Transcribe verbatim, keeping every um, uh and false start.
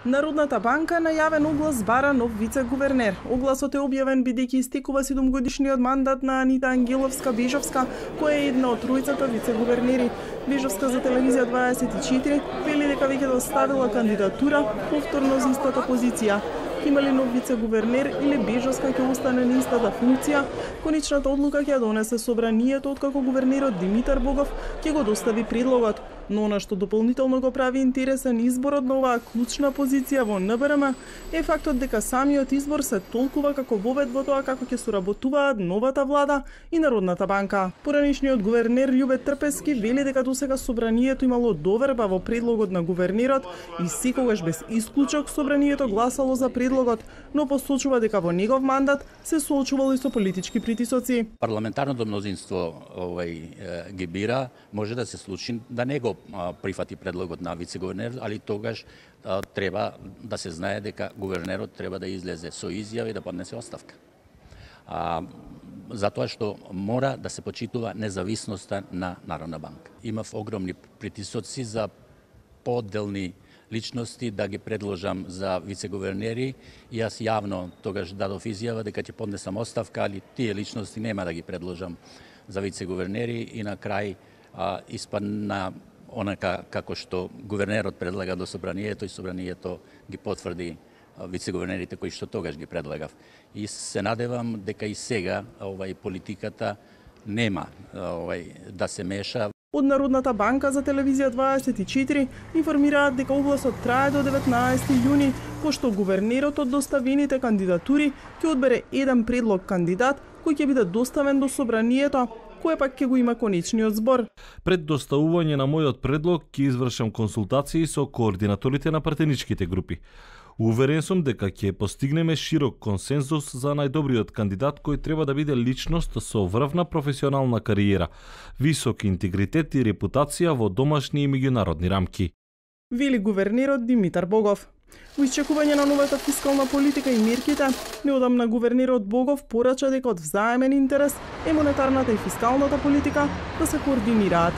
Народната банка најавен оглас бара нов вице-гувернер. Огласот е објавен бидејќи истекува седумгодишниот мандат на Анита Ангеловска-Бежовска, која е една од тројцата вице-гувернери. Бежовска за телевизија дваесет и четири вели дека веќе доставила кандидатура повторно за истата позиција. Има ли нов вице-гувернер или Бежовска ќе остане на истата функција? Конечната одлука ќе ја донесе собранието, откако гувернерот Димитар Богов ќе го достави предлогот. Но она што дополнително го прави интересен изборот на оваа клучна позиција во ен бе ер ем е фактот дека самиот избор се толкува како вовед во тоа како ќе соработуваат новата влада и Народната банка. Поранишниот гувернер Љубе Трпески вели дека досега собранието имало доверба во предлогот на гувернерот и секогаш без исклучок собранието гласало за предлогот, но посочува дека во негов мандат се соочувал и со политички притисоци. Парламентарното мнозинство овај ги бира, може да се случи да не го прифати предлогот на вице-гувернер, али тогаш а, треба да се знае дека гувернерот треба да излезе со изјава и да поднесе оставка. А, затоа што мора да се почитува независноста на Народна банка. Имав огромни притисоци за поделни личности да ги предложам за вице-гувернери и јас јавно тогаш дадов изјава дека ќе поднесам оставка, али тие личности нема да ги предложам за вице-гувернери и на крај а, испадна онака како што гувернерот предлага до собранието и собранието ги потврди вице-гувернерите кои што тогаш ги предлагав. И се надевам дека и сега овај политиката нема овај да се меша. Од Народната банка за телевизија дваесет и четири информираат дека огласот трае до деветнаесети јуни, пошто гувернерот од доставените кандидатури ќе одбере еден предлог кандидат кој ќе биде доставен до собранието, кој пак ќе го има конечниот збор. Пред доставување на мојот предлог ќе извршам консултации со координаторите на партеничките групи. Уверен сум дека ќе постигнеме широк консензус за најдобриот кандидат кој треба да биде личност со врвна професионална кариера, висок интегритет и репутација во домашни и меѓународни рамки. Вели гувернерот Димитар Богов. Во исчекување на новата фискална политика и мерките, неодамна гувернерот Богов порача дека од взаемен интерес е монетарната и фискалната политика да се координираат.